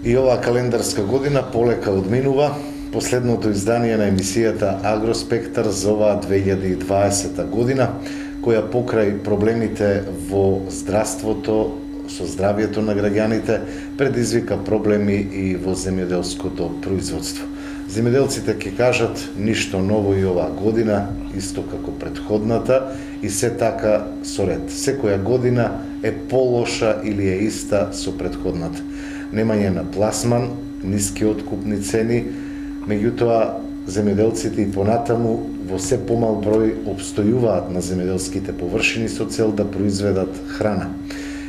И оваа календарска година полека одминува. Последното издание на емисијата Агроспектар за оваа 2020 година, која покрај проблемите во здравството, со здравието на граѓаните, предизвика проблеми и во земјоделското производство. Земјоделците ќе кажат ништо ново и оваа година, исто како претходната, и се така со ред. Секоја година е полоша или е иста со претходната. Немање на пласман, ниски откупни цени, меѓутоа земјоделците и понатаму во се помал број обстојуваат на земјоделските површини со цел да произведат храна.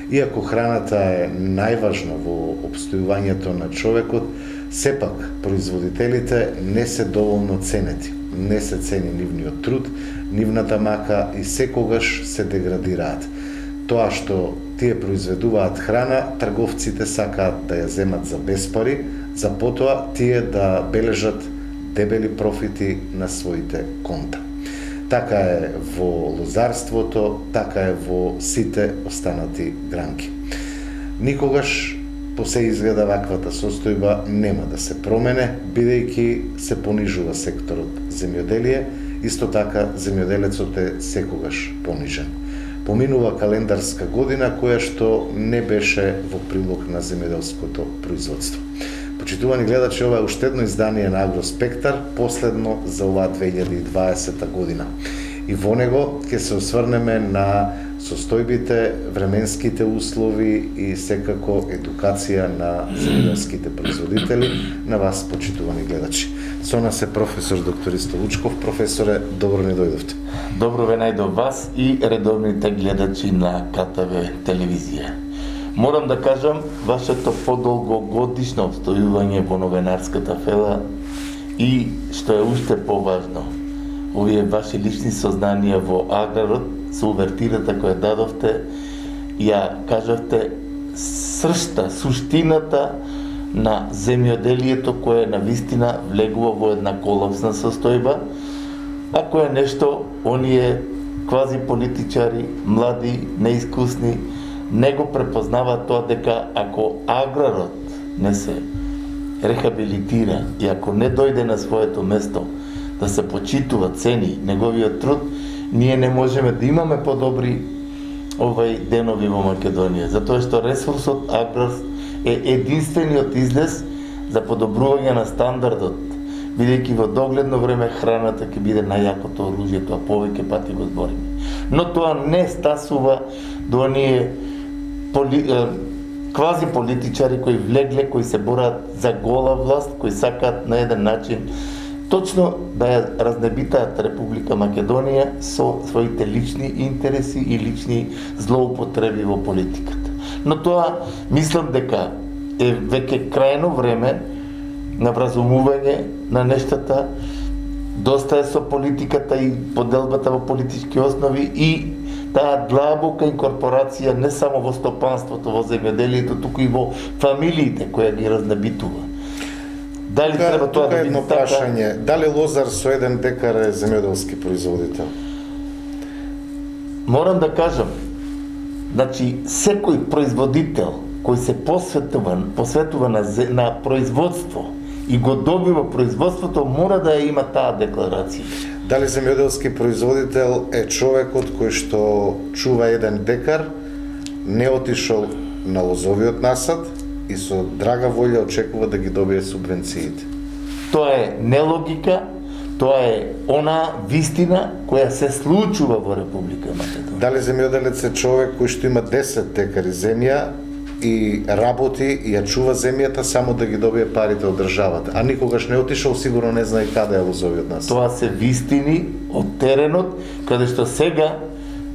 Иако храната е најважна во обстојувањето на човекот, сепак производителите не се доволно ценети. Не се цени нивниот труд, нивната мака и секогаш се деградираат. Тоа што тие произведуваат храна, трговците сакаат да ја земат за безпари, за потоа тие да бележат дебели профити на своите конта. Така е во лозарството, така е во сите останати гранки. Никогаш по се изгледа ваквата состојба нема да се промене, бидејќи се понижува секторот земјоделие, исто така земјоделецот е секогаш понижен. Поминува календарска година која што не беше во прилог на земјоделското производство. Почитувани гледачи, ова е уште едно издание на Агроспектар, последно за оваа 2020 година. И во него ќе се осврнеме на состојбите, временските услови и секако едукација на земјоделските производители, на вас, почитувани гледачи. Со нас е професор доктор Ристо Лучков. Професоре, добро ни дојдовте. Добро ве најдов вас и редовните гледачи на КТВ телевизија. Морам да кажам, вашето подолгогодишно обстојување во новинарската фела и, што е уште поважно, овие ваши лични сознанија во аграрот, со увертирата која дадовте, ја кажавте сршта, суштината на земјоделието кое навистина влегува во една колапсна состојба, а кое нешто оние квази политичари, млади, неискусни, не го препознаваат тоа дека ако аграрот не се рехабилитира и ако не дојде на своето место да се почитува, цени неговиот труд, ние не можеме да имаме подобри денови во Македонија, затоа што ресурсот аграр е единствениот излез за подобрување на стандардот, бидејќи во догледно време храната ќе биде најакото оружје, тоа повеќе пати го збориме. Но тоа не стасува до оние квази политичари кои влегле, кои се борат за гола власт, кои сакаат на еден начин точно да ја разнебитаат Република Македонија со своите лични интереси и лични злоупотреби во политиката. Но тоа мислам дека е веќе крајно време на вразумување на нештата, доста е со политиката и поделбата во политички основи и таа длабока инкорпорација не само во стопанството, во земјоделието, туку и во фамилиите која ги разнебитува. Дали треба тоа да биде така? Прашање, дали лозар со 1 декар е земјоделски производител? Морам да кажам, значи секој производител кој се посветува на производство и го добива производството, мора да ја има таа декларација. Дали земјоделски производител е човекот кој што чува 1 декар, не отишол на лозовиот насад и со драга волја очекува да ги добие субвенциите? Тоа е нелогика, тоа е она вистина која се случува во Република Македонија. Дали земјоделец е човек кој што има 10 декари земја и работи и ја чува земјата само да ги добие парите од државата, а никогаш не отишол, сигурно не знае каде е лозовиот насад? Тоа се вистини од теренот, каде што сега,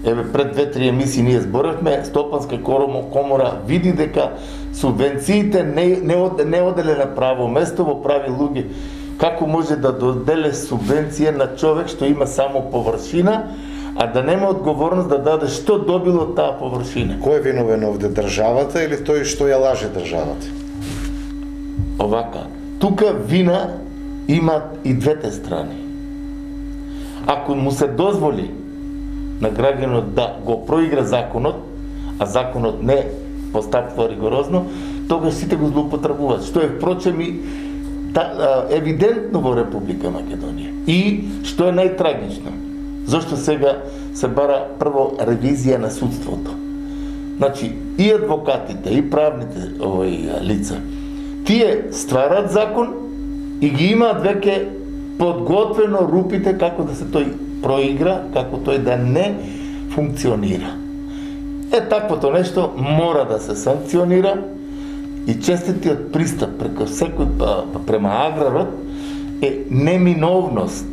пред 2-3 емисии ние зборевме, Стопанска комора види дека субвенциите не оделе на право место во прави луѓе. Како може да доделе субвенција на човек што има само површина, а да нема одговорност да даде што добило таа површина? Кој е виновен овде, државата или тој што ја лаже државата? Овака, тука вина имат и двете страни. Ако му се дозволи на граѓанот да го проигра законот, а законот не постапува ригорозно, тогаш сите го злоупотребуваат, што е впрочем и евидентно во Република Македонија. И што е најтрагично, зашто сега се бара прво ревизија на судството. Значи, и адвокатите, и правните лица, тие стварат закон и ги имаат веќе подготвено рупите како да се тој проигра, како тој да не функционира. Таквото нешто мора да се санкционира и честитиот пристап преку секој према аграрот е неминовност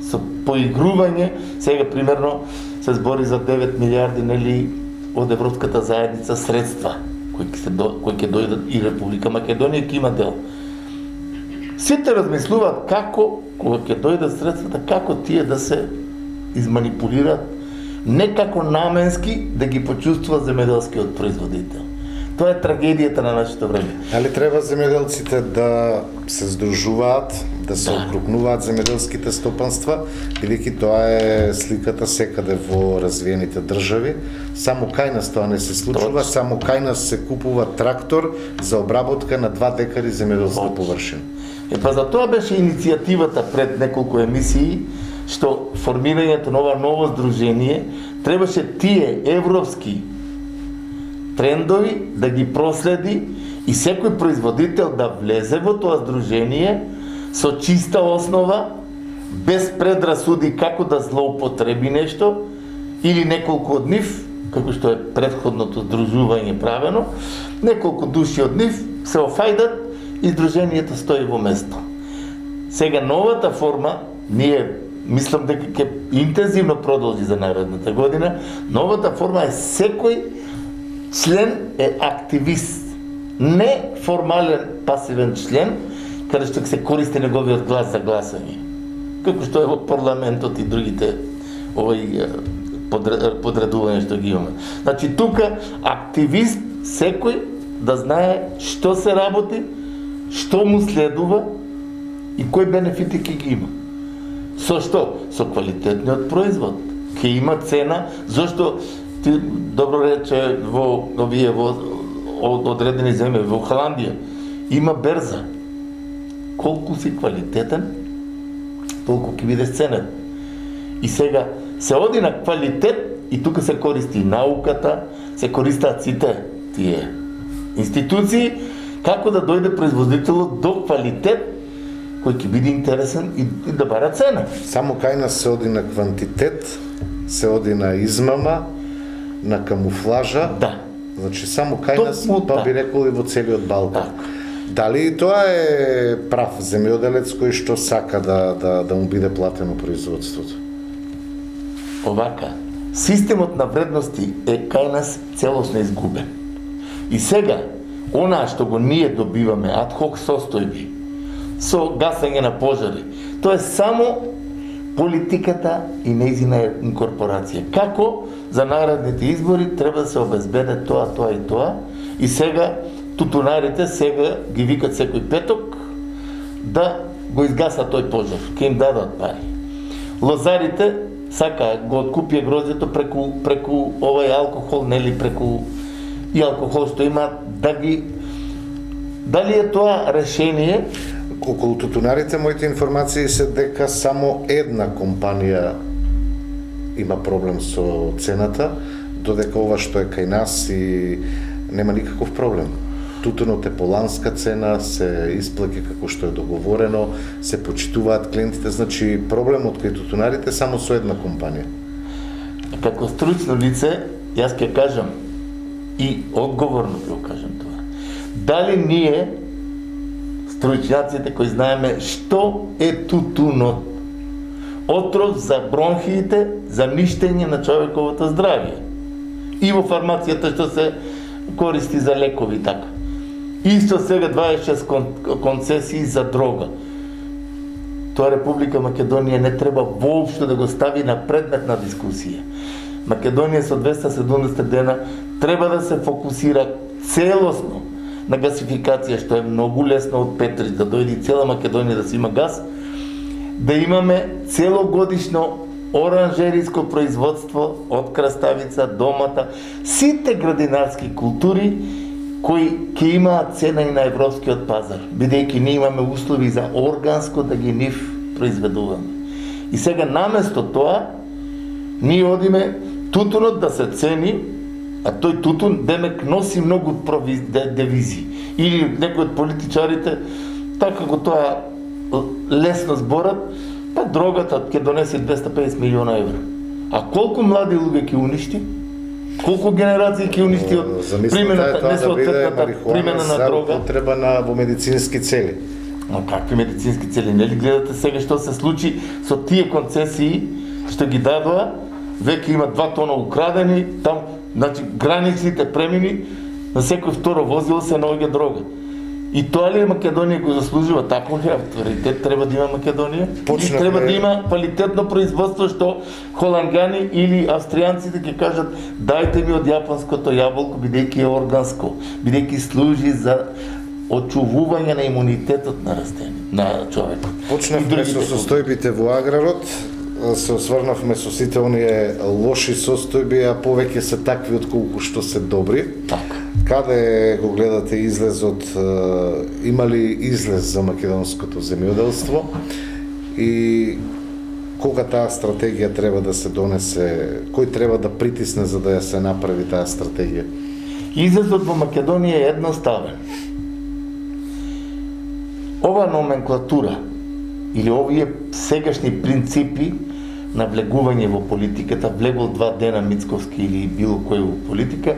со поигрување. Сега примерно се збори за 9 милиарди нели од Европската заедница средства кои ќе дојдат и Република Македонија ќе има дел. Сите размислуваат како кога ќе дојдат средствата, како тие да се изманипулираат, не како наменски да ги почувствува земјоделскиот производител. Тоа е трагедијата на нашето време. Дали треба земјоделците да се здружуваат, да се окрупнуваат земјоделските стопанства, бидејќи тоа е сликата секаде во развиените држави. Само кај нас тоа не се случува, само кај нас се купува трактор за обработка на 2 декари земјоделска површина. Па за тоа беше иницијативата пред неколку емисии, што формирањето на ова ново здружение требаше тие европски трендови да ги проследи и секој производител да влезе во тоа здружение со чиста основа, без предрасуди како да злоупотреби нешто или неколку од нив, како што е претходното здружување правено, неколку души од нив се офајдат и здружението стои во место. Сега новата форма, ние мислам дека ќе интензивно продолжи за наредната година, новата форма е секој член е активист, не формален пасивен член, каде што се користи неговиот глас за гласање. Како што е во парламентот и другите подредувања што ги имаме. Значи тука активист секој да знае што се работи, што му следува и кои бенефити ќе ги има. Со што? Со квалитетниот производ. Ќе има цена, зашто ти добро рече во одредени земји, во Холандија има берза. Колку си квалитетен, толку ќе биде ценет. И сега се оди на квалитет и тука се користи науката, се користат сите тие институции, како да дојде производителот до квалитет кој ќе биде интересен и да бара цена. Само кај нас се оди на квантитет, се оди на измама, на камуфлажа. Да. Значи само кај нас, па би рекол и во целиот Балкан. Дали тоа е прав земјоделец кој што сака да му биде платено производството? Овака, системот на вредности е кај нас целосно изгубен. И сега, онаа што го ние добиваме, адхок состојби, со гасање на пожари, тоа е само политиката и нејзина инкорпорација. Како за наредните избори треба да се обезбеде тоа, тоа и тоа, и сега тутунарите сега ги викат секој петок да го изгасат тој пожар, ќе им дадат пари. Лозарите сакаат го откупија гроздето преку овај алкохол, нели преку и алкохол што имаат, да ги... Дали е тоа решение? Околу тутунарите, моите информации се дека само една компанија има проблем со цената, додека ова што е кај нас и нема никаков проблем. Тутунот е по ланска цена, се исплаќа како што е договорено, се почитуваат клиентите, значи проблемот кај тутунарите само со една компанија. Како стручно лице, јас ќе кажам и одговорно ќе кажам тоа. Дали ние стручњаците кои знаеме што е тутунот? Отров за бронхиите, за ништење на човековото здравје. И во фармацијата што се користи за лекови така. Исто сега 26 концесии за дрога. Тоа Република Македонија не треба воопшто да го стави на предмет на дискусија. Македонија со 270 дена треба да се фокусира целосно на гасификација, што е многу лесно од Петрич, да дојде цела Македонија да си има газ, да имаме целогодишно оранжериско производство од краставица, домата, сите градинарски култури кои ќе имаат цена и на европскиот пазар, бидејќи ние имаме услови за органско да ги нив произведуваме. И сега наместо тоа, ние одиме тутунот да се цени, а тој тутун демек носи многу девизи. Или некои од политичарите, така како тоа лесно зборат, па дрогата ќе донесе 250 милиона евра. А колку млади луѓе ќе уништи? Колку генерации ќе уништи од примената, несоодветната примена на дрога? Потреба во медицински цели. Но какви медицински цели? Нели гледате сега што се случи со тие концесии што ги дадоа, веќе има 2 тона украдени, там, значи, границите премини, на секој второ возило се наоѓа дрога. И тоа ли Македонија го заслужува? Тако ли авторитет треба да има Македонија? Или треба да има квалитетно производство што холандјани или австријанците ќе кажат дајте ми од јапонското јаболко бидејќи е органско, бидејќи служи за очувување на имунитетот на растение, на човекот. Почнавме со состојбите во аграрот, се осврнавме со сите оние лоши состојби, а повеќе се такви отколку што се добри. Така. Каде го гледате излезот, има ли излез за македонското земјоделство и кога таа стратегија треба да се донесе, кој треба да притисне за да ја се направи таа стратегија? Излезот во Македонија е едноставен. Ова номенклатура или овие сегашни принципи на влегување во политиката, влегол 2 дена Мицковски или било кој во политика,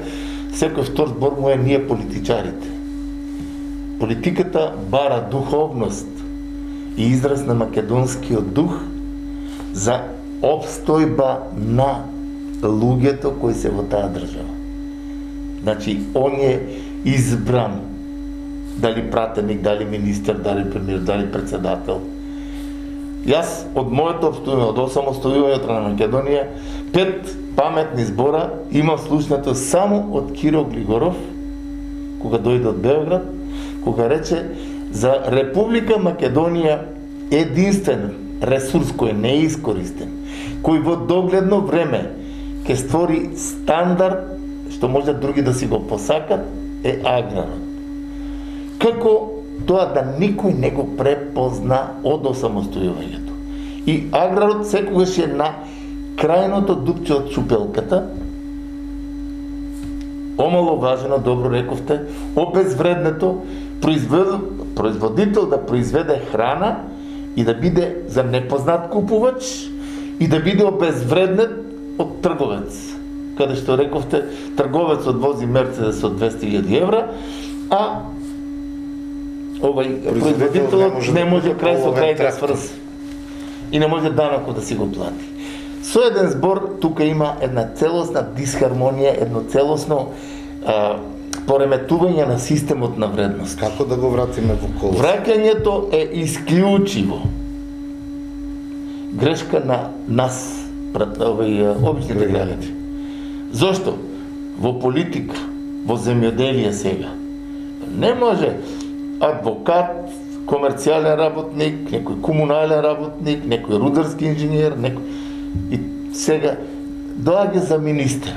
секој втор збор му е ние политичарите. Политиката бара духовност и израз на македонскиот дух за обстојба на луѓето кои се во таа држава. Значи, он е избран, дали пратеник, дали министер, дали премиер, дали председател. Јас од моето обстојување, од осамостојувањето на Македонија, 5 паметни збора имам слушнато само од Киро Глигоров, кога дојде од Београд, кога рече за Република Македонија единствен ресурс кој не е искористен, кој во догледно време ќе створи стандард што може други да си го посакат, е аграрот. Како тоа да никој не го препозна од осамостојувањето. И аграрот секогаш е на крајното дупче од чупелката, омаловажено, добро рековте, обезвреднето, производител да произведе храна и да биде за непознат купувач и да биде обезвреднет од трговец. Каде што рековте, трговецот вози Мерцедес од 200.000 евра, а производителот не може крај со крај да сврзи и не може данокот да си го плати. Со еден збор, тука има една целосна дисхармонија, едно целосно пореметување на системот на вредност. Како да го вратиме во колосот? Враќањето е исклучиво грешка на нас, обичните граѓани. Зошто? Во политика, во земјоделие сега, не може адвокат, комерцијален работник, некој комунален работник, некој рударски инженер, и сега доаѓа за министер.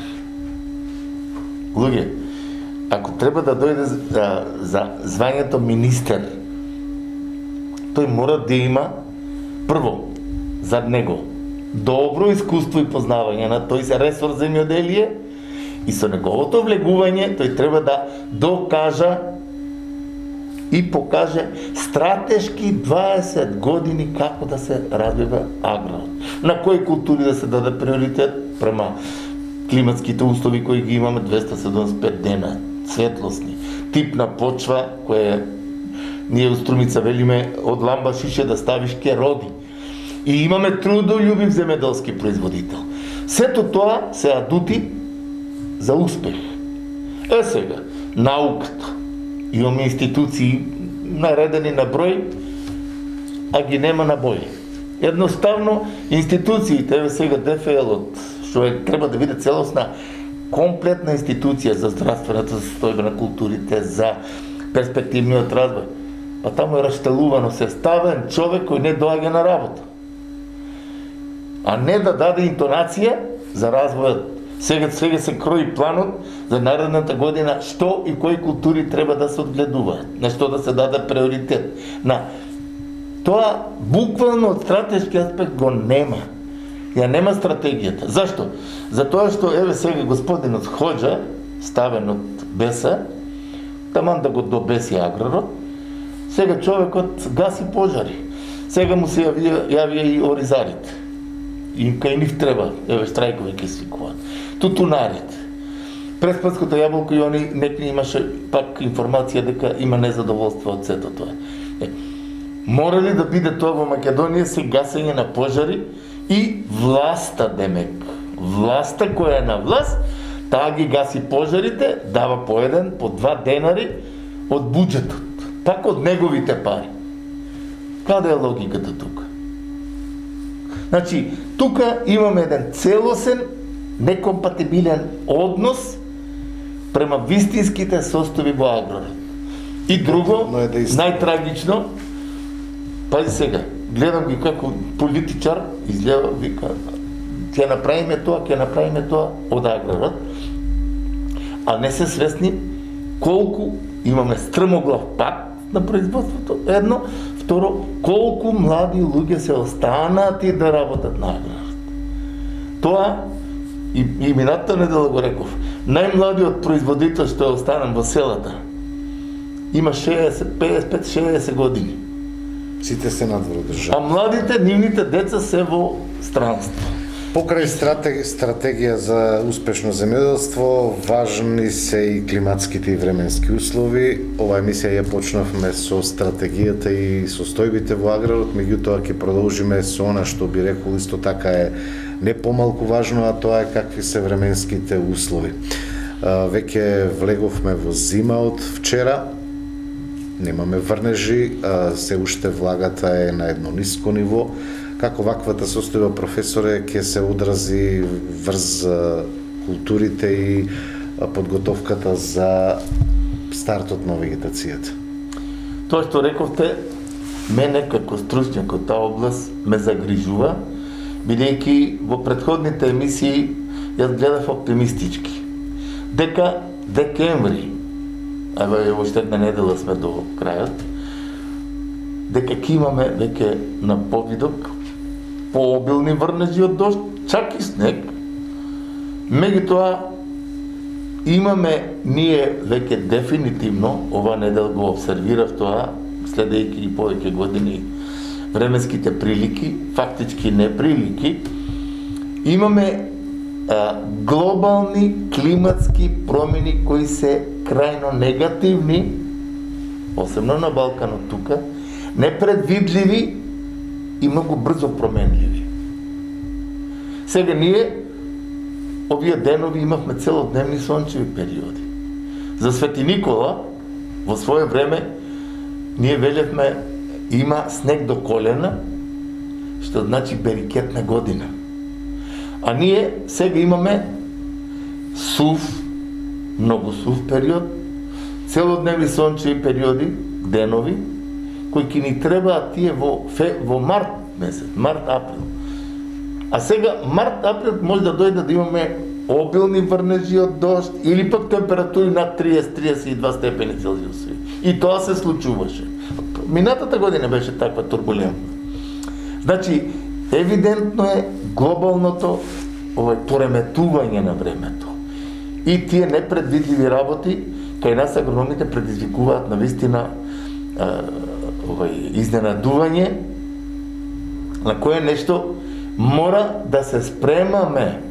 Луѓе, ако треба да дојде за звањето министер, тој мора да има прво зад него добро искуство и познавање на тој ресор земјоделие и со неговото влегување тој треба да докажа и покаже стратешки 20 години како да се развива аграрот. На кои култури да се даде приоритет према климатските услови кои ги имаме 275 дена, светлосни, тип на почва која ние у Струмица велиме од ламба шише да ставиш ке роди. И имаме трудолюбив земјоделски производител. Сето тоа се адути за успех. Сега, науката. Имаме институции наредени на број, а ги нема на бој. Едноставно, институциите, сега ДФЛ-от, што треба да биде целосна, комплетна институција за здравствената состојба на културите, за перспективниот развој. Па таму е раштелувано сеставен човек кој не доаѓа на работа. А не да даде интонација за развојот Сега се крои планот за наредната година што и кои култури треба да се одгледуваат, на што да се даде приоритет. Тоа буквално од стратешки аспект го нема. Ја нема стратегијата. Зашто? Затоа што еве сега господинот Хоџа, ставен од Беса, таман да го добеси аграрот, сега човекот гаси пожари. Сега му се јавија и оризарите. И кај нив треба, еве штрајкови ќе свикуваат. Тутунарите. Преспанското јаболко и они некои имаше пак информација дека има незадоволство од сето тоа. Мора ли да биде тоа во Македонија се гасење на пожари и власта демек. Власта која е на власт, таа ги гаси пожарите, дава по 1, по 2 денари од буџетот. Пак од неговите пари. Каде е логиката тука? Значи, тука имаме еден целосен, некомпатибилен однос према вистинските состојби во аграрот. И друго, најтрагично, пази сега, гледам ги како политичар, изгледа, вика, ќе направиме тоа од аграрот, а не се свесни колку имаме стрмоглав пат на производството, едно, второ, колку млади луѓе се останати да работат на аграрот. Тоа, и минатата недела го реков, најмладиот производител што е останан во селата, има 55-60 години. Сите се надвор држава. А младите, нивните деца се во странство. Покрај стратегија за успешно земјоделство, важни се и климатските и временски услови. Ова емисија ја почнавме со стратегијата и состојбите во аграрот, меѓутоа ќе продолжиме со она што би рекол исто така е не помалку важно, а тоа е какви се временските услови. Веќе влеговме во зима од вчера, немаме врнежи, се уште влагата е на едно ниско ниво. Како ваквата состојба, професоре, ќе се одрази врз културите и подготовката за стартот на вегетацијата? Тоа што рековте, мене како стручњак од таа област ме загрижува, бидејќи во претходните емисии јас гледав оптимистички. Дека декември, еве уште една недела сме до крајот, дека ќе имаме веќе на повидок пообилни врнежи од дожд, чак и снег. Меѓутоа имаме ние веќе дефинитивно, ова недел го обсервирав тоа, следејќи и повеќе години временските прилики, фактички неприлики, имаме глобални климатски промени кои се крајно негативни, посебно на Балканот тука, непредвидливи и многу брзо променливи. Сега ние овие денови имавме целодневни сончеви периоди. За Свети Никола во свое време ние велевме има снег до колена, што значи берикетна година. А ние сега имаме сув, многу сув период, целодневни сончеви периоди, денови, кои ќе ни требаат тие во март месец, март-април. А сега март-април може да дојде да имаме обилни врнежи од дожд или пак температури над 30-32 степени Целзиусови. И тоа се случуваше. Минатата година беше таква турбулентна. Значи, евидентно е глобалното пореметување на времето. И тие непредвидливи работи кај нас агрономите предизвикуваат навистина изненадување на кое нешто мора да се спремаме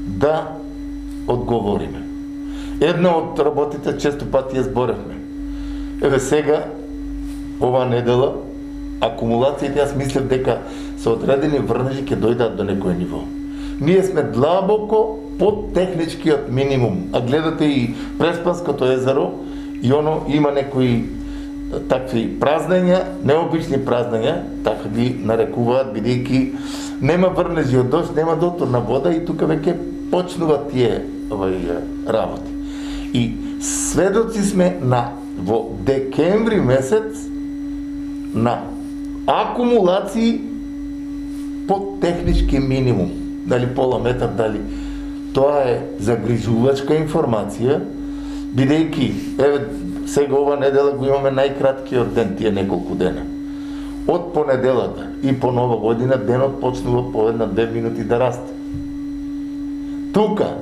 да одговориме. Една од работите често пати ја зборевме. Еве сега, ова недела, акумулациите, јас мислев дека со одредени врнежи ќе дојдат до некој ниво. Ние сме длабоко под техничкиот минимум, а гледате и Преспанското езеро и оно има некои такви празнења, необични празнења, така ги нарекуваат, бидејќи нема врнежи од дожд, нема доторна вода и тука веќе почнуваат тие работи. И сведоци сме во декември месец на акумулации под технички минимум, дали пола метар, дали Тоа е загрижувачка информација, бидејќи, еве, сега ова недела го имаме најкраткиот ден, тие неколку дена. Од понеделата и по Нова година денот почнува по 1-2 минути да расте. Тука,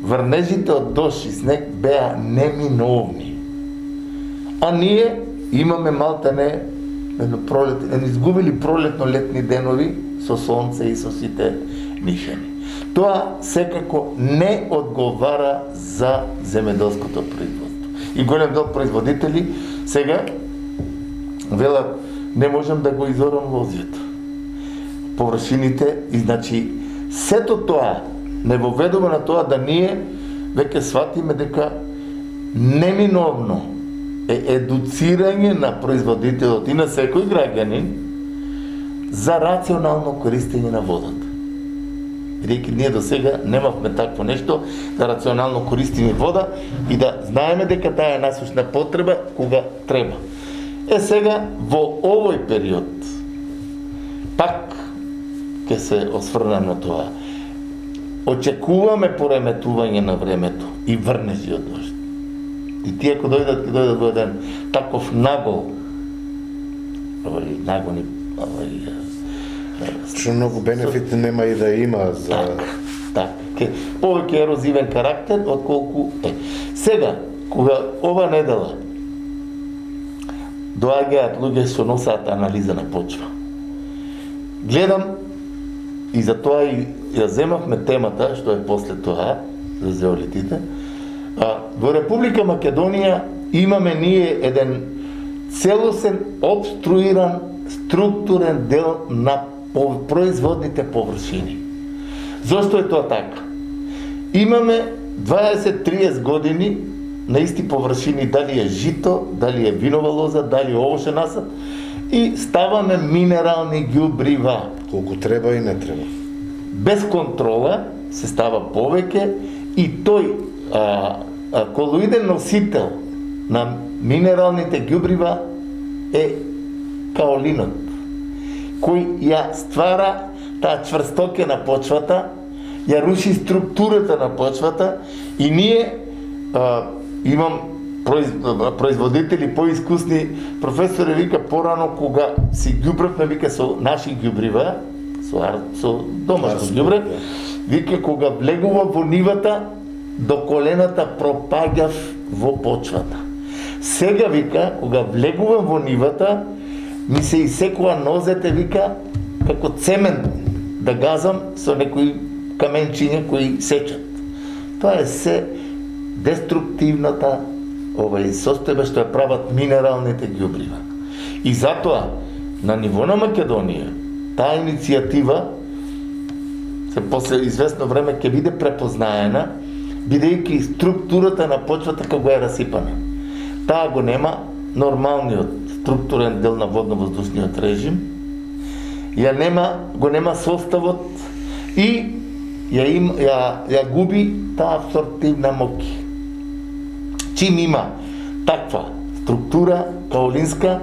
врнежите од дожд и снег беа неминовни. А ние имаме малтане изгубили пролетно-летни денови со сонце и со сите нишани. Тоа секако не одговара за земеделското производство. И голем дел производители сега велат не можам да го изорам лозјето. Површините и значи сето тоа не воведува на тоа да ние веќе сватиме дека неминовно е едуцирање на производителот и на секој граѓанин за рационално користење на водата. Бидејќи ние до сега немавме такво нешто, да рационално користиме вода и да знаеме дека таа е насушна потреба кога треба. Сега во овој период пак ќе се осврнам на тоа. Очекуваме пореметување на времето и врнежи од дожд. И тие ако дојдат, ќе дојдат во еден таков нагол, нагони, што многу бенефит нема и да има за... Так. Повеќе ерозивен карактер, отколку е. Сега, кога ова недела доаѓаат луѓе што носат анализа на почва, гледам и за тоа и ја земавме темата, што е после тоа, за зеолитите. Во Република Македонија имаме ние еден целосен, обструиран, структурен дел на производните површини. Зошто е тоа така? Имаме 20-30 години на исти површини, дали е жито, дали е винова лоза, дали е овошен насад, и ставаме минерални ѓубрива. Колку треба и не треба. Без контрола се става повеќе и тој колоиден носител на минералните ѓубрива е каолинот, кој ја ствара таа чврстоке на почвата, ја руши структурата на почвата и ние имам производители поискусни, професори вика порано кога си ѓубравме вика со наши ѓубрива, со домашно ѓубре, вика кога влегува во нивата до колената пропаѓав во почвата. Сега вика кога влегувам во нивата ми се исекува нозете вика како цемент да газам со некои каменчиња кои сечат. Тоа е се деструктивната состојба што ја прават минералните ѓубрива. И затоа на ниво на Македонија таа иницијатива се после известно време ќе биде препознаена, бидејќи структурата на почвата како е расипана. Таа го нема нормалниот структурен дел на водно-воздушниот режим, го нема составот и ја губи таа абсорбтивна моќ. Чим има таква структура каолинска,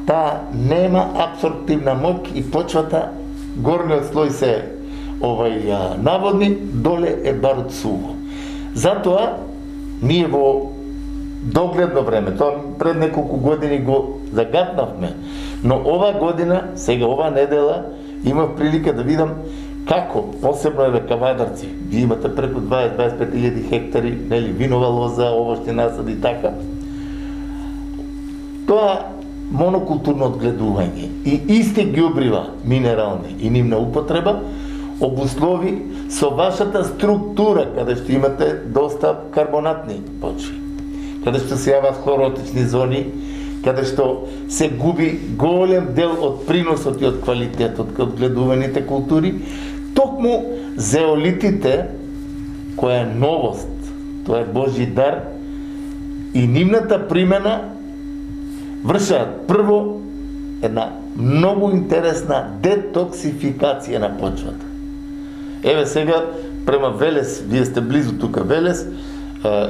таа нема абсорбтивна моќ и почвата, горниот слој се наводни, доле е барут суво. Затоа ние во догледно време, тоа пред неколку години го загатнавме, но ова година, сега ова недела, имав прилика да видам како, посебно е Кавадарци, ви имате преку 20-25 хектари, нели, винова лоза, овошни насади и така. Тоа монокултурно одгледување и исти ѓубрива минерални и нивна употреба обуслови со вашата структура, каде што имате доста карбонатни почви, каде што се јават хлоротични зони, каде што се губи голем дел од приносот и од квалитетот кај одгледуваните култури, токму зеолитите, која е новост, тоа е Божји дар, и нивната примена вршат прво една многу интересна детоксификација на почвата. Еве сега, према Велес, вие сте близу тука Велес,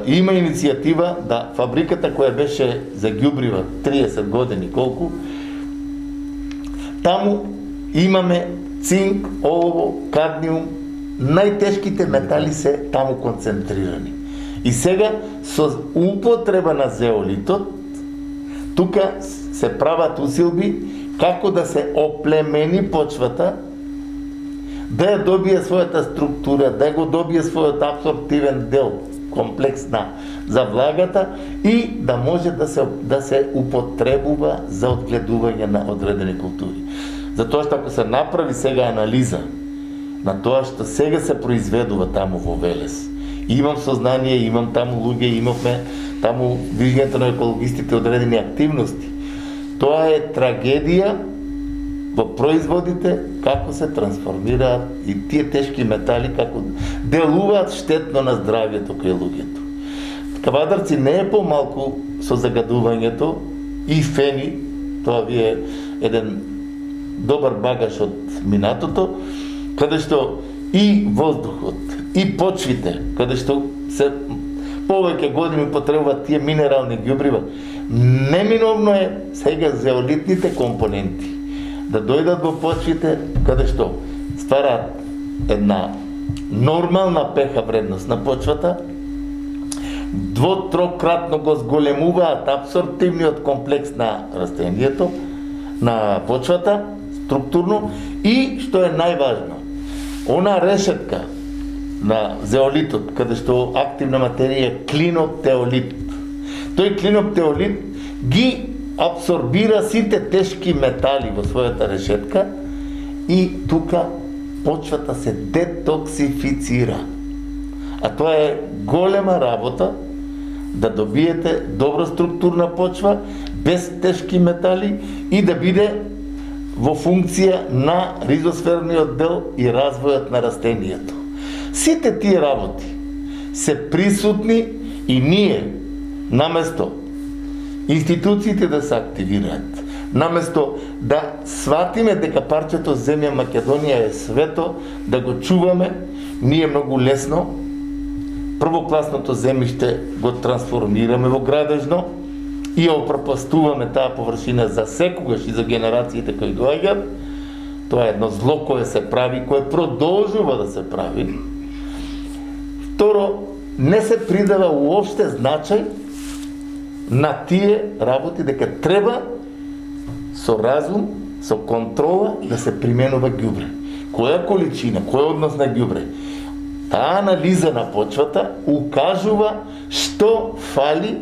има иницијатива да фабриката која беше за ѓубрива 30 години колку, таму имаме цинк, олово, кадмиум најтешките метали се таму концентрирани. И сега со употреба на зеолитот тука се прават усилби како да се оплемени почвата, да ја добие својата структура, да го добие својот абсорптивен дел, комплекс за влагата и да може да се употребува за одгледување на одредени култури. Затоа што ако се направи сега анализа на тоа што сега се произведува таму во Велес, имам сознание, имам таму луѓе, имавме таму движењето на екологистите одредени активности. Тоа е трагедија во производите, како се трансформираат и тие тешки метали, како делуваат штетно на здравјето кај луѓето. Кавадарци не е помалку со загадувањето и фени, тоа ви е еден добар багаж од минатото, каде што и воздухот, и почвите, каде што се повеќе години потребуваат тие минерални ѓубрива, неминовно е сега зеолитните компоненти да дојдат во почвите, каде што ствараат една нормална pH вредност на почвата, двотрократно го зголемуваат абсорптивниот комплекс на растението, на почвата, структурно, и што е најважно, она решетка на зеолитот, каде што активна материја е клиноптеолит. Тој клиноптеолит ги абсорбира сите тешки метали во својата решетка и тука почвата се детоксифицира. А тоа е голема работа да добиете добра структурна почва без тешки метали и да биде во функција на ризосферниот дел и развојот на растението. Сите тие работи се присутни и ние, наместо институциите да се активираат, наместо да сватиме дека парчето земја Македонија е свето, да го чуваме, ние многу лесно првокласното земјиште го трансформираме во градежно и ја опропастуваме таа површина за секогаш и за генерациите кои доаѓаат. Тоа е едно зло кое се прави, кое продолжува да се прави. Второ, не се придава уопште значај на тие работи, дека треба со разум, со контрола да се применува ѓубре. Која количина, кој однос на ѓубре? Таа анализа на почвата укажува што фали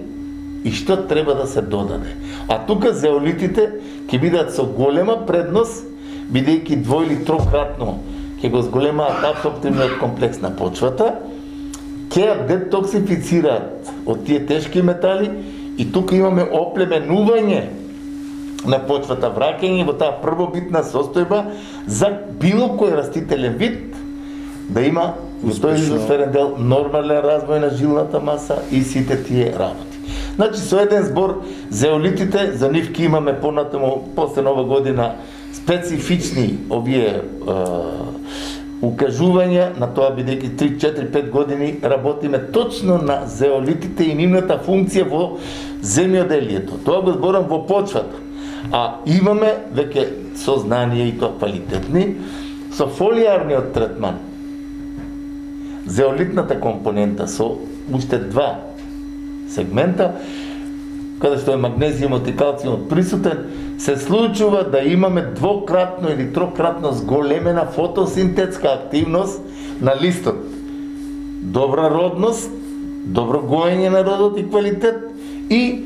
и што треба да се додаде. А тука зеолитите ќе бидат со голема предност, бидејќи дво или трократно ќе го зголемаат абсорптивниот комплекс на почвата, ќе ја детоксифицираат од тие тешки метали и тука имаме оплеменување на почвата, враќање во таа првобитна состојба за било кој растителен вид да има во тој ризосферен дел нормален развој на жилната маса и сите тие работи. Значи, со еден збор, зеолитите, за нив ки имаме понатаму, после нова година, специфични овие укажувања на тоа, бидејќи 3-4-5 години работиме точно на зеолитите и нивната функција во земјоделието. Тоа го зборам во почвата. А имаме веќе сознание и тоа квалитетни со фолијарниот третман. Зеолитната компонента со уште два сегмента, каде што е магнезиумот и калциумот присутен, се случува да имаме двократно или трократно зголемена фотосинтетска активност на листот. Добра родност, добро гоење на родот и квалитет и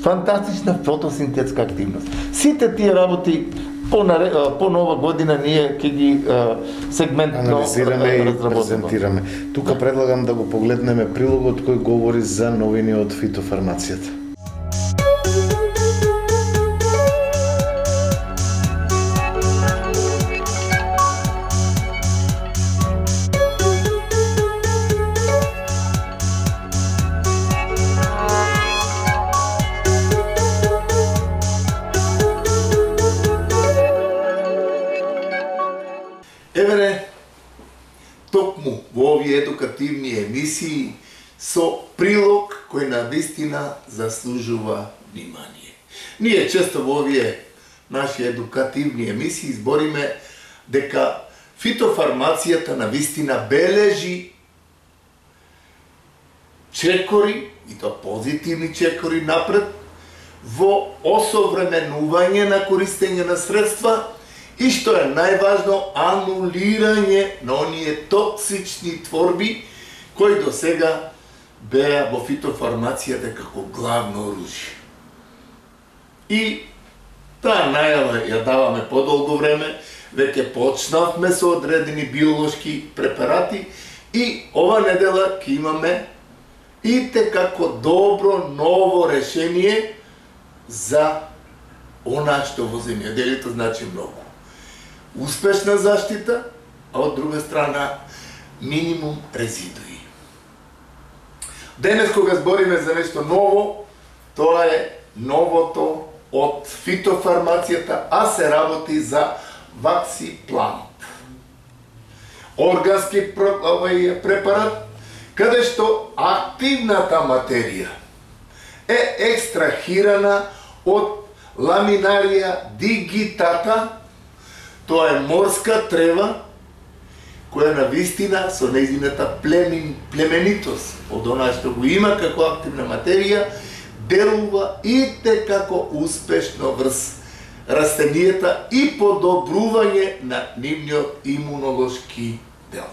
фантастична фотосинтетска активност. Сите тие работи по нова година ние ќе ги сегментно анализираме и презентираме. Тука предлагам да го погледнеме прилогот кој говори за новини од фитофармацијата. Евере, токму во овие едукативни емисии со прилог кој навистина заслужува внимание. Ние често во овие наши едукативни емисии збориме дека фитофармацијата навистина бележи чекори, и тоа позитивни чекори напред, во осовременување на користење на средства и што е најважно, анулирање на оние токсични творби кои до сега беа во фитофармацијата како главно оружје. И таа најава ја даваме подолго време, веќе почнавме со одредени биолошки препарати и ова недела ќе имаме и како добро ново решение за она што во земјоделието значи многу. Успешна заштита, а од друга страна минимум резидуи. Денес кога збориме за нешто ново, тоа е новото од фитофармацијата, а се работи за ваксиплант. Органски препарат, каде што активната материја е екстрахирана од Laminaria digitata, тоа е морска трева, која навистина со нејзината племенитост, од она што го има како активна материја, делува и како успешно врз растенијата и подобрување на нивниот имунолошки дел.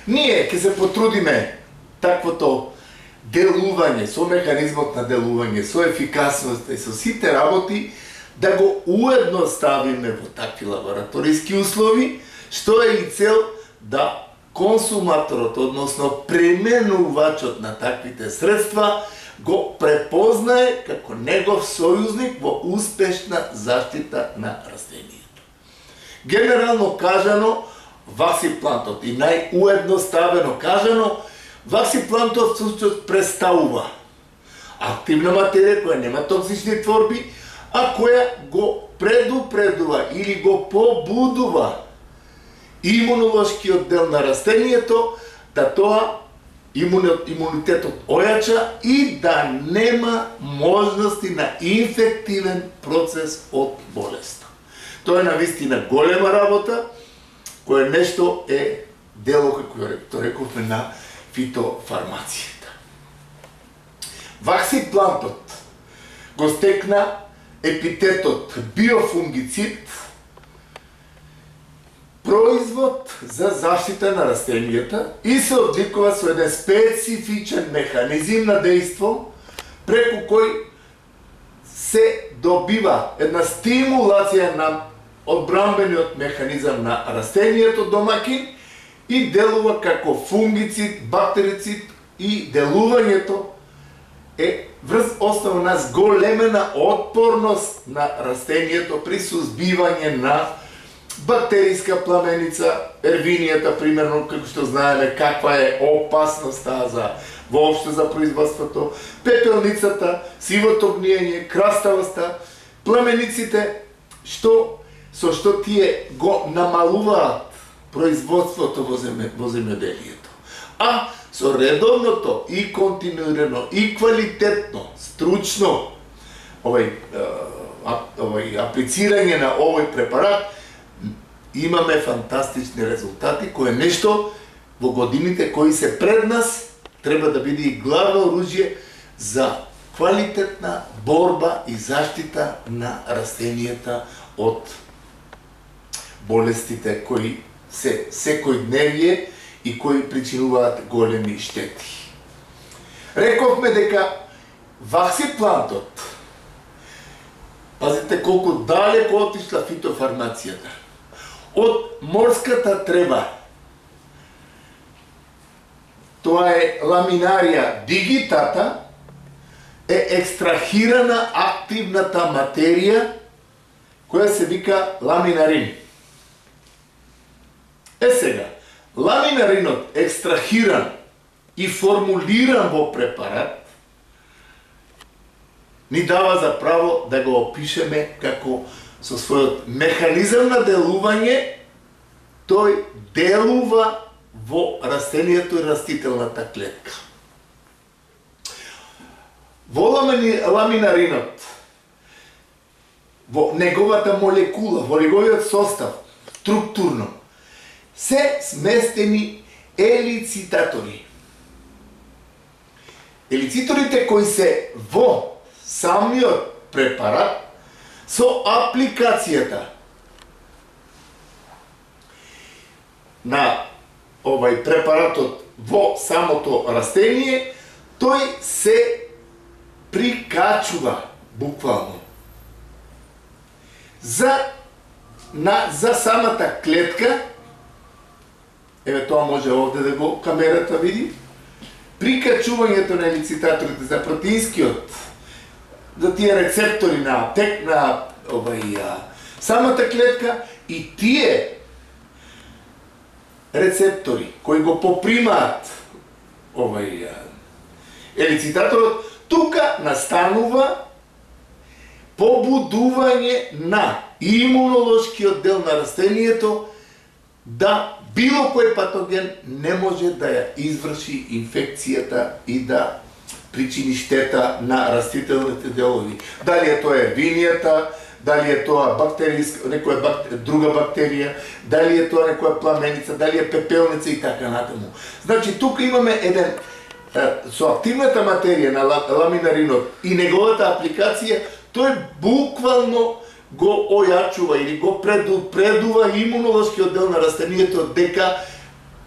Ние ќе се потрудиме таквото делување, со механизмот на делување, со ефикасноста и со сите работи, да го уедноставиме во такви лабораториски услови, што е и цел да консуматорот, односно пременувачот на таквите средства, го препознае како негов сојузник во успешна заштита на растенијето. Генерално кажано, ваксиплантот и најуедноставено кажано, ваксиплантот всушност представува активна материја која нема токсични творби, а која го предупредува или го побудува имунолошкиот дел на растенијето да тоа имунитетот ојача и да нема можности на инфективен процес од болест. Тоа е навистина голема работа, која нешто е дело, како рековме, на фитофармацијата. Ваксиплантот го стекна епитетот биофунгицид, производ за заштита на растенијата и се одликува со еден специфичен механизм на дејство, преку кој се добива една стимулација на одбранбениот механизам на растенијето домакин и делува како фунгицид, бактерицид и делувањето е врз основа на зголемена отпорност на растенијето при сузбивање на бактериска пламеница, ервинијата, примерно, како што знаеме каква е опасноста за воопшто за производството, пепелницата, сивото гниење, краставоста, пламениците, со што тие го намалуваат производството во земјоделието. А со редовното и континуирано и квалитетно, стручно аплицирање на овој препарат, имаме фантастични резултати, кој е нешто во годините кои се пред нас треба да биде и главно оружје за квалитетна борба и заштита на растенијата од болестите кои се секојдневие и кои причинуваат големи штети. Рековме дека ваксиплантот, пазите колку далеко отишла фитофармацијата, од морската трева, тоа е Laminaria digitata, е екстрахирана активната материја која се вика ламинарин. Сега, ламинаринот екстрахиран и формулиран во препарат ни дава за право да го опишеме како со својот механизам на делување, тој делува во растенијето и растителната клетка. Во ламинаринот, во неговата молекула, во неговиот состав, структурно, се сместени елицитатори. Елициторите кои се во самиот препарат со апликацијата на овај препаратот во самото растение, тој се прикачува буквално за самата клетка. Еве тоа може овде да го камерата види. Прикачувањето на елицитаторите за протеинскиот, за тие рецептори на самата клетка и тие рецептори кои го попримаат елицитаторот, тука настанува побудување на имунолошкиот дел на растението да било кој патоген не може да ја изврши инфекцијата и да причини штета на растителните делови. Дали е тоа ервинијата, дали е тоа некоја друга бактерија, дали е тоа некоја пламеница, дали е пепелница и така натаму. Значи, тука имаме еден со активната материја на ламинаринот и неговата апликација, тој буквално го ојачува или го предупредува имунолошкиот дел на растението дека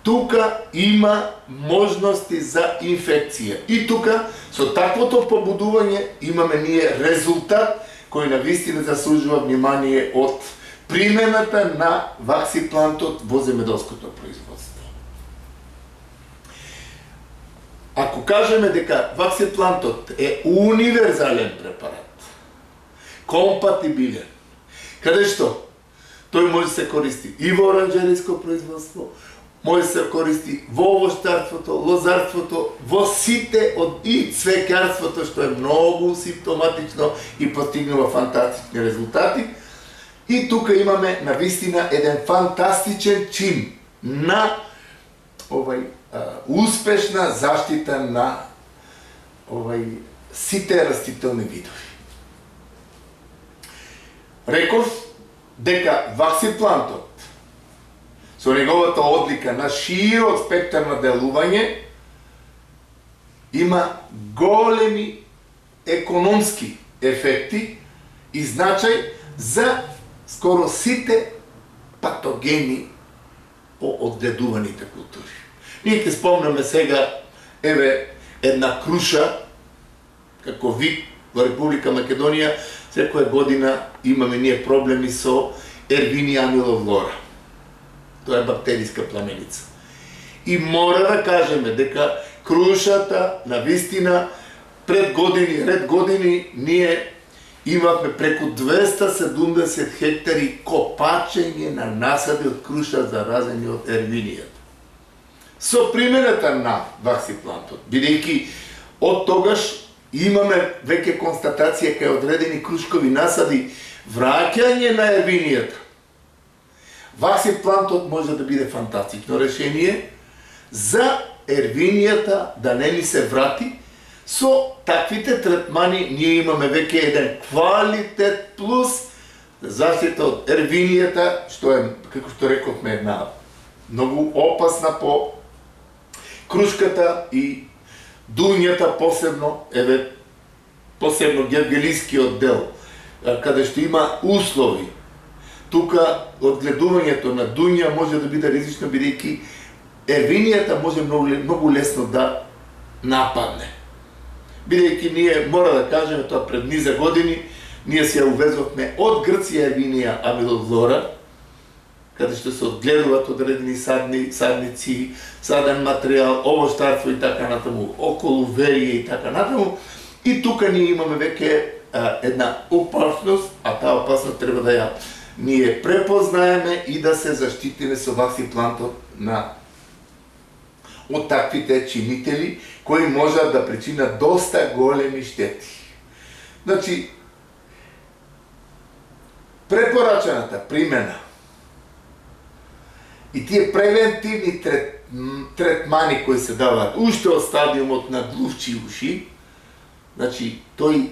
тука има можности за инфекција. И тука, со таквото побудување, имаме ние резултат кој навистина заслужува внимание од примената на ваксиплантот во земјоделското производство. Ако кажеме дека ваксиплантот е универзален препарат, компатибилен, каде што тој може се користи и во оранжериско производство, може се користи во овощарството, лозарството, во сите и цвеќарството, што е многу симптоматично и постигнува фантастични резултати. И тука имаме навистина еден фантастичен чин на успешна заштита на сите растителни видови. Реков дека ваксиплантот со неговата одлика на широк спектар на делување има големи економски ефекти и значај за скоро сите патогени по одгледуваните култури. Ние ќе спомнеме сега, еве, една круша, како вид во Република Македонија, секоја година имаме ние проблеми со Ервиния амилофлора. Тоа е бактериска пламеница. И мора да кажеме дека крушата, навистина, ред години, ние имавме преку 270 хектари копачење на насади од круша заразени од ервинијата. Со примената на ваксиплантот, бидејќи од тогаш имаме веќе констатација кај одредени крушкови насади враќање на ервинијата. Ваксиплантот може да биде фантастично решение за ервинијата да не ни се врати. Со таквите третмани ние имаме веќе еден квалитет плюс заштита од ервинијата, што е, како што рековме, една многу опасна по крушката и дуњата, посебно гергелискиот дел, каде што има услови. Тука одгледувањето на дуња може да биде ризично, бидејќи ервинијата може многу лесно да нападне. Бидејќи ние, мора да кажеме тоа, пред низа години, ние се увезовме од Грција ервинија амилофлора, каде што се одгледуваат одредени садници, саден материјал, овощарство и така натаму, околу верија и така натаму. И тука ние имаме веќе една опасност, а таа опасност треба да ја ние препознаеме и да се заштитиме со ваксиплантот од таквите чинители кои можат да причинат доста големи штети. Значи, препорачаната примена и тие превентивни третмани кои се даваат уште од стадиумот на глувчи уши, значи, тој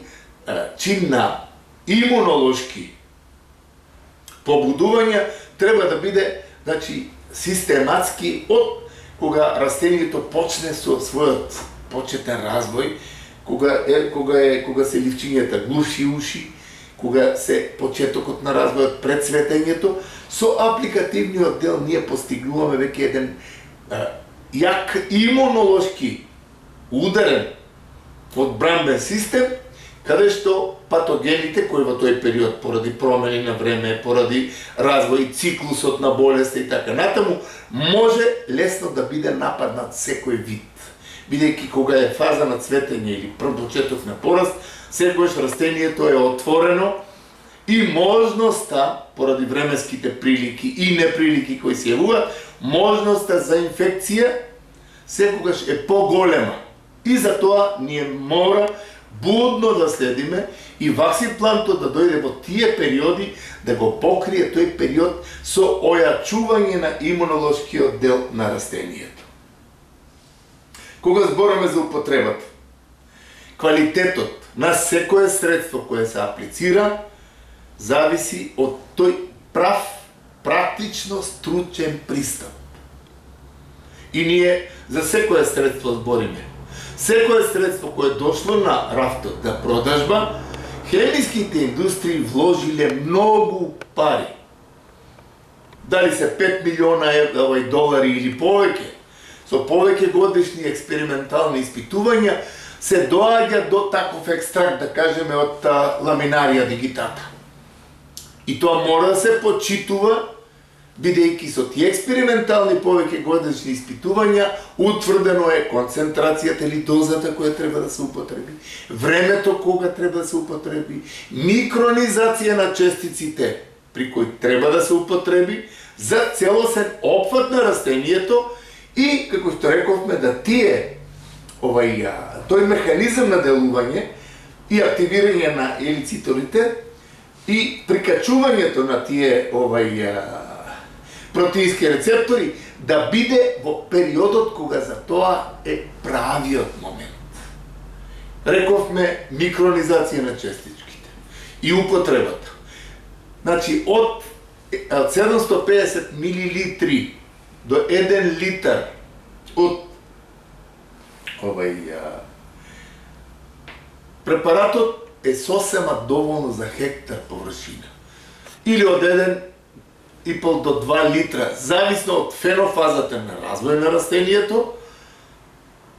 чин на имунолошки побудувања, треба да биде, значи, систематски од кога растението почне со својот почетен развој, кога се ливчињата глуши уши, кога се почетокот на развојот пред цветењето, со апликативниот дел ние постигнуваме веќе еден јак имунолошки ударен одбранбен систем, каде што патогените кои во тој период поради промени на време, поради развој циклусот на болест и така натаму, може лесно да биде нападнат секој вид. Бидејќи кога е фаза на цветење или почеток на пораст, секогаш растението е отворено и можноста, поради временските прилики и неприлики кои се јавуваат, можноста за инфекција секогаш е поголема. И затоа ние мора будно да следиме и ваксиплантот да дојде во тие периоди да го покрие тој период со ојачување на имунолошкиот дел на растението. Кога збораме за употребата, квалитетот на секое средство кое се аплицира зависи од тој прав, практично стручен пристап. И ние за секое средство збориме. Секое средство кое дошло на рафтот за продажба, хемиските индустрии вложиле многу пари. Дали се 5 милиона долари или повеќе, со повеќе годишни експериментални испитувања, се доаѓа до таков екстракт, да кажеме, од ламинарија дигитата. И тоа мора да се почитува, бидејќи со тие експериментални повеќе годишни испитувања утврдено е концентрацијата или дозата која треба да се употреби, времето кога треба да се употреби, микронизација на честиците при кои треба да се употреби за целосен опфат на растението и, како што рековме, да тој механизам на делување и активирање на елицитолите и прикачувањето на тие протеински рецептори да биде во периодот кога за тоа е правиот момент. Рековме микронизација на честичките и употребата. Значи, од 750 милилитри до 1 литар од препаратот е сосема доволно за хектар површина. Или од 1,5 до 2 литра, зависно од фенофазата на развој на растението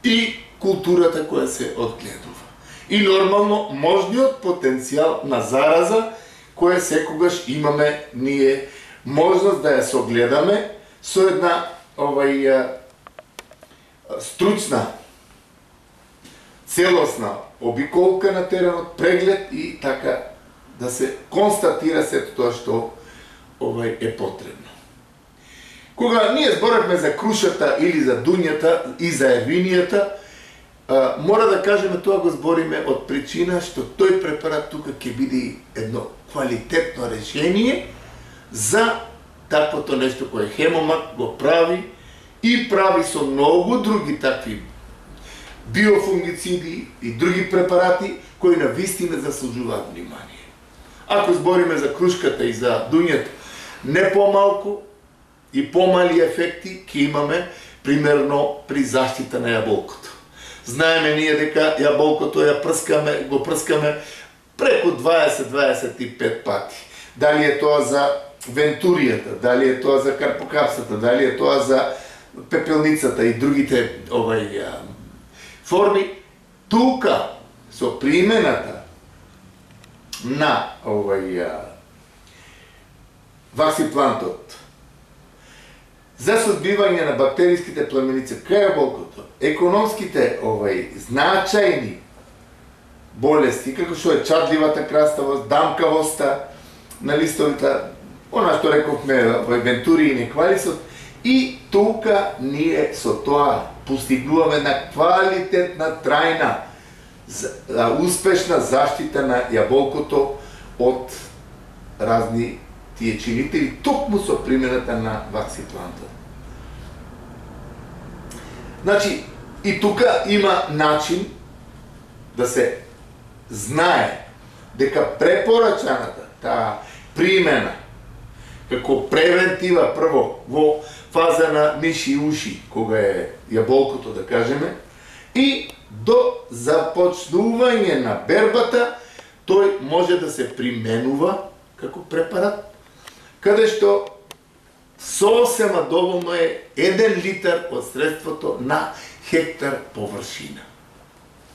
и културата која се одгледува. И нормално можниот потенцијал на зараза која секогаш имаме ние можност да ја согледаме со една стручна, целосна обиколка на теренот, преглед и така да се констатира сето тоа што е потребно. Кога ние зборевме за крушата или за дуњата и за ервинијата, мора да кажеме тоа го збориме од причина што тој препарат тука ќе биде едно квалитетно решение за таквото нешто кое Хемомак го прави и прави со многу други такви биофунгициди и други препарати кои навистина заслужуваат внимание. Ако збориме за крушката и за дуњата, не помалку и помали ефекти ќе имаме примерно при заштита на јаболкото. Знаеме ние дека јаболкото го прскаме преку 20-25 пати. Дали е тоа за вентуријата, дали е тоа за карпокапсата, дали е тоа за пепелницата и другите форми, тука со примената на ваксиплантот за сузбивање на бактериските племеници кај јаболкото, економските значајни болести, како што е чадливата краставост, дамкавоста на листовите, она што рековме вентури и неквалисот, и тука ние со тоа постигнуваме на квалитетна, трајна, успешна заштита на јаболкото од разни тие чинители, токму со примената на ваксиплантот. Значи, и тука има начин да се знае дека препорачаната, таа примена како превентива прво во фаза на миши и уши, кога е јаболкото да кажеме, и до започнување на бербата тој може да се применува како препарат, каде што сосема доволно е 1 литар од средството на хектар површина.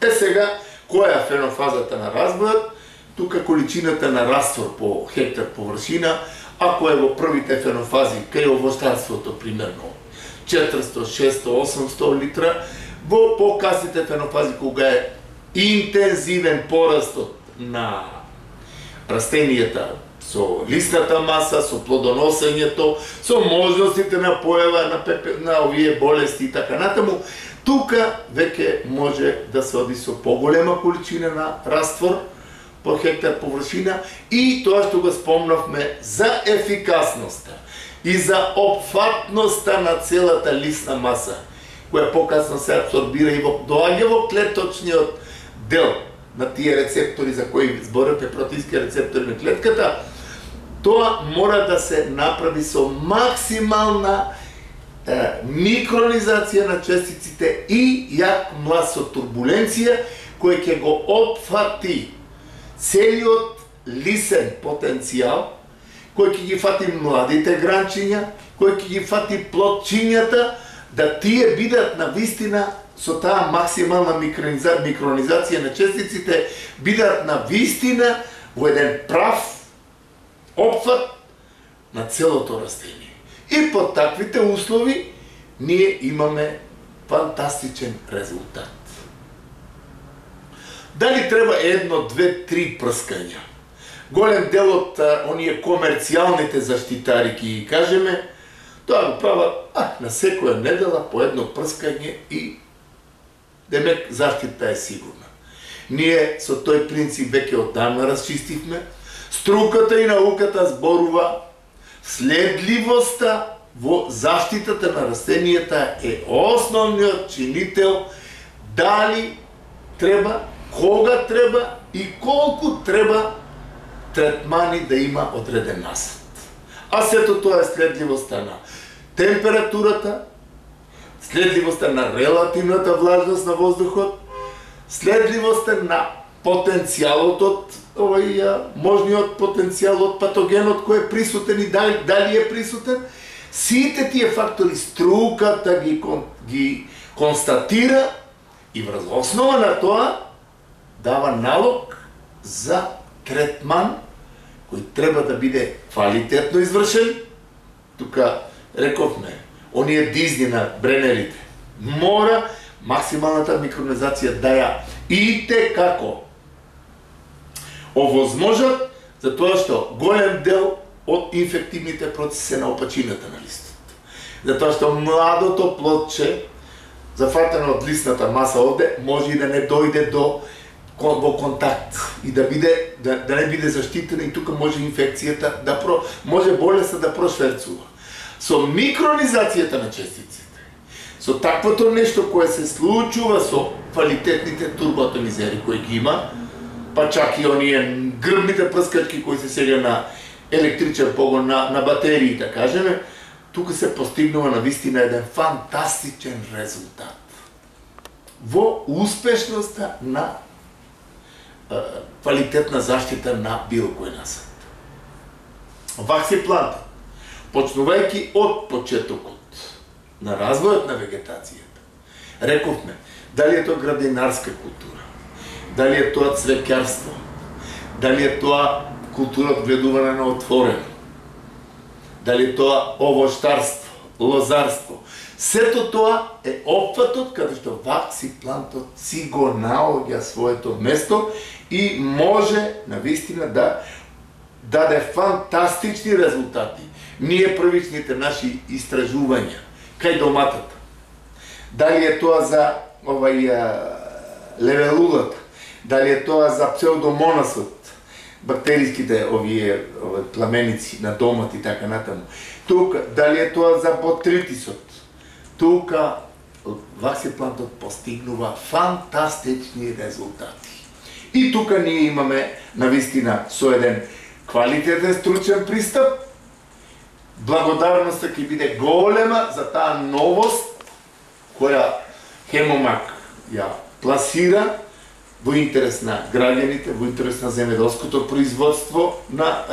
Сега, која е фенофазата на разбојот? Тука количината на раствор по хектар површина, ако е во првите фенофази, кај овощарството примерно 400, 600, 800 литра, во покасните фенофази, кога е интензивен порастот на растенијата, со лисната маса, со плодоносењето, со можностите на појава на овие болести и така натаму, тука веќе може да се оди со поголема количина на раствор по хектар површина и тоа што го спомнавме за ефикасноста и за опфатноста на целата лисна маса, која покасно се абсорбира и доаѓа во клеточниот дел на тие рецептори за кои зборите, протеински рецептори на клетката, тоа мора да се направи со максимална микронизација на честиците и јак млад со турбуленција, кој ќе го опфати целиот лисен потенцијал, кој ќе ги фати младите гранчиња, кој ќе ги фати плодчињата, да тие бидат на вистина со таа максимална микронизација на честиците, бидат на вистина во еден прав опфат на целото растение. И под таквите услови ние имаме фантастичен резултат. Дали треба 1, 2, 3 прскања? Голем дел од оние комерцијалните заштитари, ки кажеме, тоа го прават на секоја недела по едно прскање и демек заштита е сигурна. Ние со тој принцип веќе оддавна расчистивме. Струката и науката зборува следливоста во заштитата на растенијата е основниот чинител дали треба, кога треба и колку треба третмани да има одреден насад. А сето тоа е следливоста на температурата, следливоста на релативната влажност на воздухот, следливоста на потенцијалот од можниот потенцијал од патогенот кој е присутен и дали е присутен. Сите тие фактори струката ги констатира и врз основа на тоа дава налог за третман кој треба да биде квалитетно извршен. Тука рековме, оние дизни на бренерите, мора максималната микронизација да ја ите како овозможат, затоа што голем дел од инфективните процеси на опачината на листот. Затоа што младото плодче, зафатено од лисната маса овде, може и да не дојде во контакт и да не биде заштитена и тука може инфекцијата може болеста да прошверцува. Со микронизацијата на честиците, со таквото нешто кое се случува со квалитетните турботонизери кои ги има, па чак и оние грбните прскачки кои се сега на електричен погон на батерии, да кажеме, тука се постигнува на вистина еден фантастичен резултат во успешноста на квалитетна заштита на било кој насад. Ваксиплантот, почнувајќи од почетокот на развојот на вегетацијата, рековме, дали е тоа градинарска култура, дали е тоа цвеќарство, дали е тоа култура од гледување на отворено, дали е тоа овощарство, лозарство. Сето тоа е опфатот каде што ваксиплантот си го наоѓа своето место и може навистина да даде фантастични резултати. Ние првичните наши истражувања кај доматата, дали е тоа за левелулата, дали е тоа за псевдомонасот, бактериските овие пламеници на домат и така натаму. Тука, дали е тоа за ботритисот, тука ваксиплантот постигнува фантастични резултати. И тука ние имаме навистина со еден квалитетен стручен пристап благодарноста ќе биде голема за таа новост која Хемомак ја пласира во интерес на граѓаните, во интерес на земјоделското производство на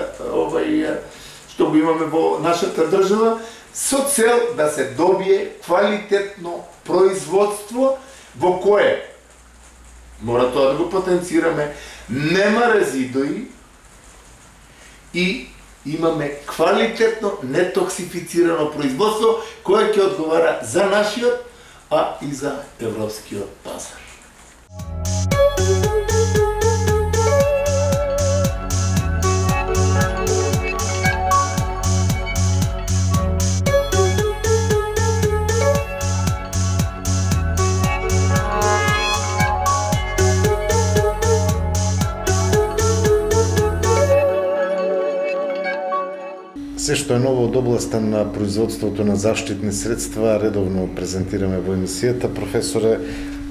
што го имаме во нашата држава, со цел да се добие квалитетно производство во кое мора тоа да го потенцираме, нема резидуи и имаме квалитетно нетоксифицирано производство кое ќе одговара за нашиот, а и за европскиот пазар. Се што е ново од областа на производството на заштитни средства редовно презентираме во емисијата. Професоре,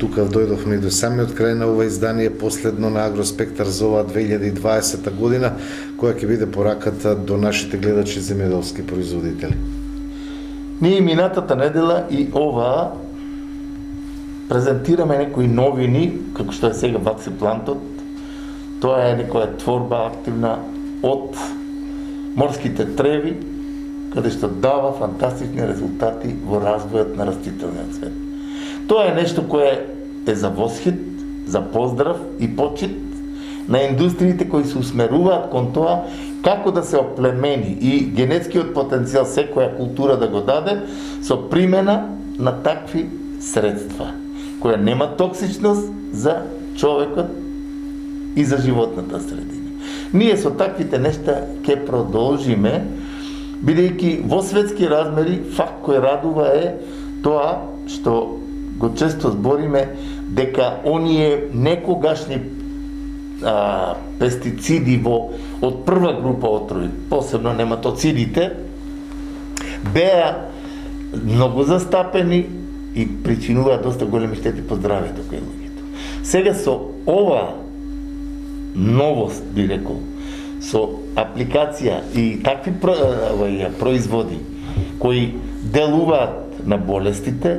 тука дојдовме и до самиот крај на ова издание, последно на Агроспектар за оваа 2020 година, која ќе биде пораката до нашите гледачи земјоделски производители. Ние минатата недела и ова презентираме некои новини, како што е сега Ваксиплантот. Тоа е некоја творба активна од морските треви, каде што дава фантастични резултати во развојот на растителниот свет. Тоа е нешто кое е за восхит, за поздрав и почит на индустриите кои се усмеруваат кон тоа како да се оплемени и генетскиот потенцијал секоја култура да го даде со примена на такви средства, која нема токсичност за човекот и за животната средина. Ние со таквите нешта ќе продолжиме, бидејќи во светски размери факт кој радува е тоа што го често збориме дека оние некогашни пестициди од прва група отрови, посебно нематоцидите, беа многу застапени и причинуваат доста големи штети по здравјето кај луѓето. Сега со ова новост, би рекол, со апликација и такви производи кои делуваат на болестите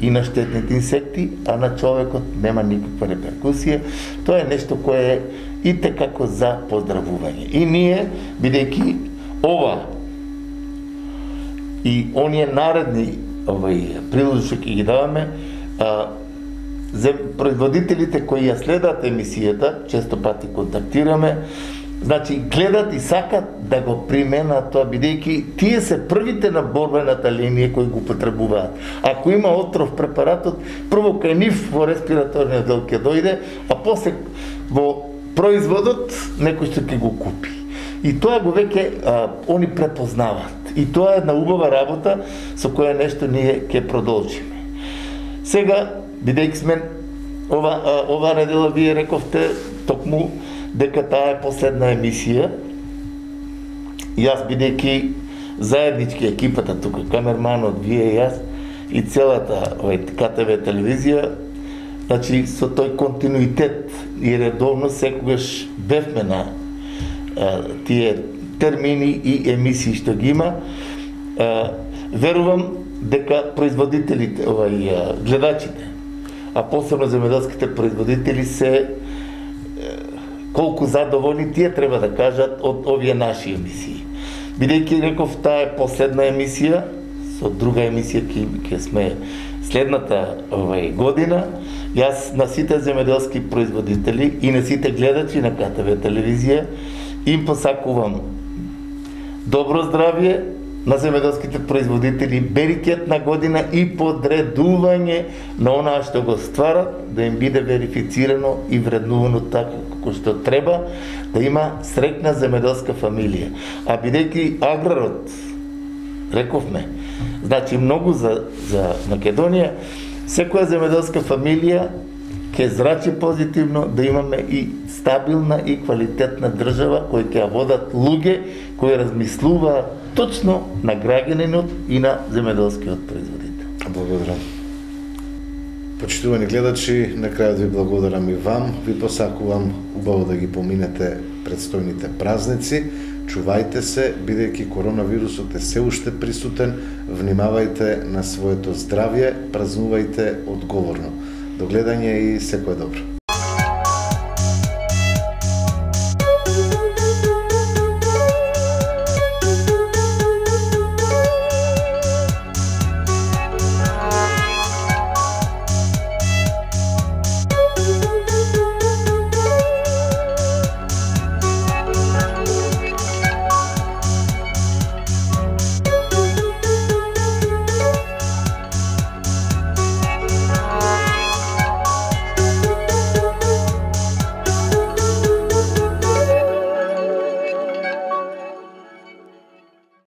и на штетните инсекти, а на човекот нема никаква реперкусија, тоа е нешто кое е и текако за поздравување. И ние, бидејќи ова и оние наредни прилози што ќе ги даваме, производителите кои ја следат емисијата, често пати контактираме, значи гледат и сакат да го применат тоа, бидејќи тие се првите на борбената линија кои го потребуваат. Ако има отров препаратот, прво кај нив во респираторниот дел ќе дојде, а после во производот некој што ќе го купи. И тоа го веќе они препознаваат. И тоа е една убава работа со која нешто ние ќе продолжиме. Сега, бидејќи сме ова недела, вие рековте токму дека таа е последна емисија. Јас, бидејќи заеднички екипата тука, камерманот, вие и јас, и целата КТВ телевизија, значи со тој континуитет и редовно секогаш бевме на тие термини и емисии што ги има, верувам дека производителите, гледачите, а посебно земјоделските производители се колку задоволни тие треба да кажат од овие наши емисии. Бидејќи реков таа е последна емисија, со друга емисија ќе сме следната година, јас на сите земјоделски производители и на сите гледачи на КТВ телевизија им посакувам добро здравје на земјоделските производители, берикетна година и подредување на онаа што го стварат, да им биде верифицирано и вреднувано така како што треба, да има среќна земјоделска фамилија. А бидејќи аграрот, рековме, значи многу за Македонија, секоја земјоделска фамилија ќе зрачи позитивно да имаме и стабилна и квалитетна држава која ќе ја водат луѓе кои размислуваат точно на граѓанинот и на земјоделскиот производител. Благодарам. Почитувани гледачи, на крајот ви благодарам и вам. Ви посакувам убаво да ги поминете предстојните празници. чувајте се, бидејќи коронавирусот е се уште присутен, внимавајте на своето здравје, празнувајте одговорно. До гледање и секое добро.